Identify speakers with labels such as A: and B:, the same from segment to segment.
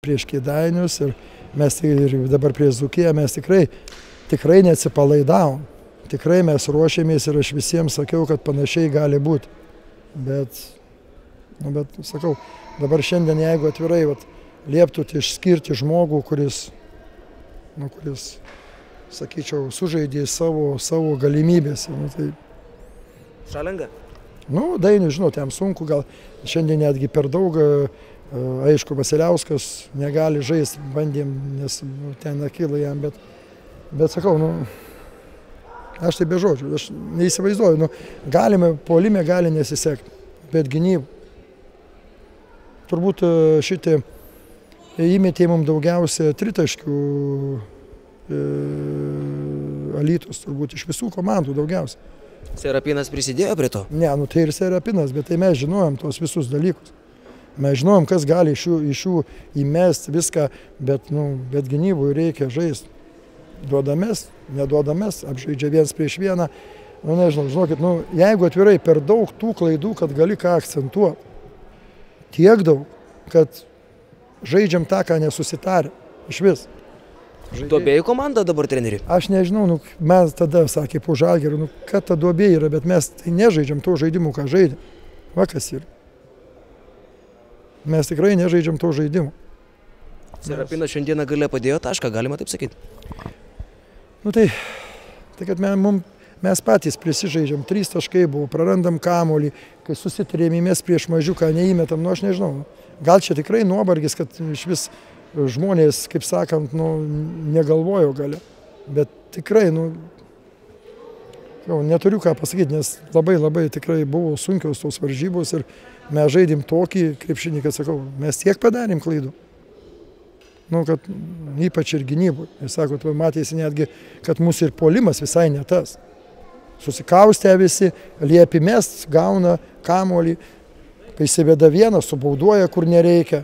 A: prieš Kėdainius ir mes ir dabar prieš Dzūkiją mes tikrai neatsipalaidavom. Tikrai mes ruošėmės ir aš visiems sakiau, kad panašiai gali būti. Bet sakau, dabar šiandien, jeigu atvirai lieptų išskirti žmogų, kuris, sakyčiau, sužaidė savo galimybės. Tai...
B: Šalenga?
A: Dainius, žinot, jam sunku, gal šiandien netgi per daug, aišku, Vasiliauskas negali žaisti, bandėm, nes ten akyla jam, bet sakau, aš tai be žodžių, aš neįsivaizduoju, galime, puolime gali nesisekti, bet gynybų. Turbūt šitie įmetė mums daugiausia tritaškių Alytus, turbūt iš visų komandų daugiausia.
B: Serapinas prisidėjo prie to?
A: Ne, tai ir Serapinas, bet tai mes žinojom tos visus dalykus. Mes žinojom, kas gali iš jų įmesti viską, bet gynybui reikia žaisti. Duodamės, neduodamės, apžaidžia viens prieš vieną. Nežinau, žinokit, jeigu atvirai per daug tų klaidų, kad gali ką akcentuoti. Tiek daug, kad žaidžiam tą, ką nesusitarė. Iš vis.
B: Duobėjų komanda dabar treneri?
A: Aš nežinau, mes tada, sakė, po Žalgirio, kad ta duobė yra, bet mes tai nežaidžiam to žaidimų, ką žaidėm. Va kas yra. Mes tikrai nežaidžiam to žaidimų.
B: Serapinas šiandieną gale padėjo tašką, galima taip sakyti?
A: Tai kad mes patys prisižaidžiam, 3 taškai buvo, prarandam kamuolį, kai susitrėmėmės prieš mažiuką, neįmetam, aš nežinau. Gal čia tikrai nuovargis, kad iš vis žmonės, kaip sakant, negalvojo gale. Bet tikrai, neturiu ką pasakyti, nes labai tikrai buvo sunkios tos varžybos ir mes žaidėm tokį krepšinį, kad sakau, mes tiek padarėm klaidų. Kad ypač ir gynybui. Ir sakot, matėsi netgi, kad mūsų ir puolimas visai ne tas. Susikaustę visi, liepi mest, gauna kamuolį, kai įsiveda vienas, subauduoja, kur nereikia.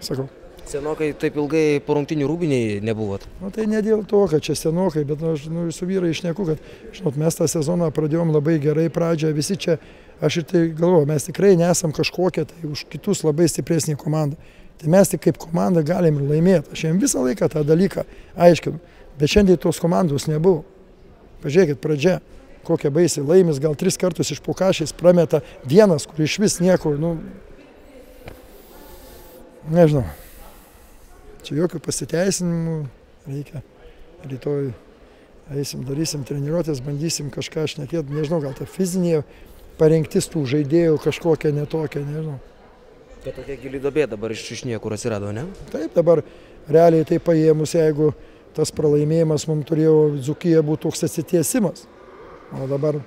A: Sakau.
B: Senokai taip ilgai po rungtynių rūbiniai nebuvot?
A: Tai ne dėl to, kad čia senokai, bet aš su vyrai išneku, kad, žinot, mes tą sezoną pradėjom labai gerai pradžią, visi čia, aš ir tai galvoju, mes tikrai nesam kažkokie, tai už kitus labai stipresnį komandą. Tai mes tik kaip komanda galim ir laimėti. Aš jiems visą laiką tą dalyką aiškinu, bet šiandien tos komandos nebuvo. Pažiūrėkit, pradžia, kokia baisiai laimis, gal 3 kartus iš pokašiais prameta vienas, kur iš vis nieko, nežinau. Čia jokių pasiteisinimų reikia. Rytoj darysim treniruotės, bandysim kažką šnekėti, nežinau, gal ta fizinė parengtis tų žaidėjų kažkokia netokia, nežinau.
B: Tai tokia gili duobė dabar iš niekur atsirado, ne?
A: Taip, dabar realiai tai paėmus, jeigu tas pralaimėjimas mums turėjo Dzūkija būti toks atsitiesimas. O dabar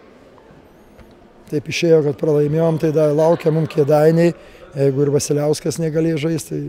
A: taip išėjo, kad pralaimėjom, tai laukia mums Kėdainiai, jeigu ir Vasiliauskas negalėjo žaisti, tai